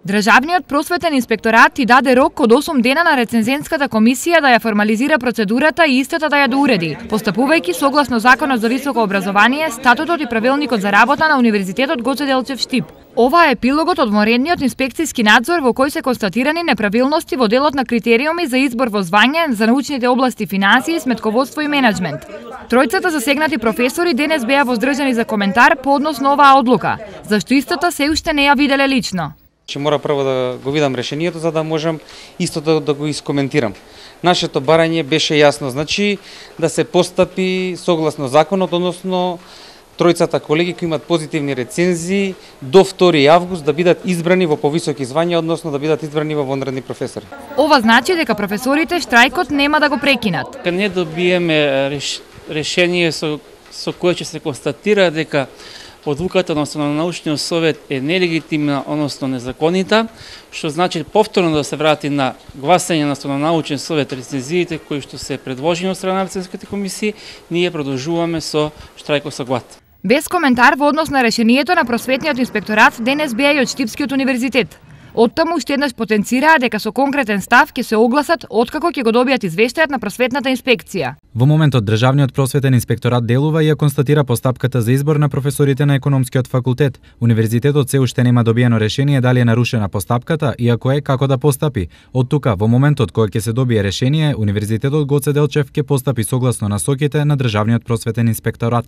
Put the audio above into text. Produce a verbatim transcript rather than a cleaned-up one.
Државниот просветен инспекторат ти даде рок од осум дена на рецензентската комисија да ја формализира процедурата и истата да ја доуреди, постапувајќи согласно Законот за високо образование, статутот и правилникот за работа на Универзитетот Гоце Делчев Штип. Ова е епилогот од вонредниот инспекцијски надзор во кој се констатирани неправилности во делот на критериуми за избор во звање за научните области финансии, сметководство и менеджмент. Тројцата засегнати професори денес беа воздржани за коментар по однос на оваа одлука, зашто истата се уште не ја виделе лично. Че мора прво да го видам решението за да можам истото да го искоментирам. Нашето барање беше јасно, значи да се постапи согласно законот, односно тројцата колеги кои имат позитивни рецензии до втори август да бидат избрани во повисоки звања, односно да бидат избрани во вонредни професори. Ова значи дека професорите штрајкот нема да го прекинат. Кога не добиеме реш... решение со, со кое ќе се констатира дека одлуката на научниот совет е нелегитимна, односно незаконита, што значи повторно да се врати на гласање на научен совет рецензиите кои што се предложени од страна на рецензиските комисии, ние продолжуваме со штрајкот со глад. Без коментар во однос на решението на просветниот инспекторат денес беа и од Штипскиот универзитет. Оттаму уште еднаш потенцираа дека со конкретен став ќе се огласат откако ќе го добијат извештајот на просветната инспекција. Во моментот Државниот просветен инспекторат делува и ја констатира постапката за избор на професорите на економскиот факултет. Универзитетот се уште нема добиено решение дали е нарушена постапката и ако е како да постапи. Од тука во моментот кога ќе се добие решение, Универзитетот Гоце Делчев ќе постапи согласно насоките на Државниот просветен инспекторат.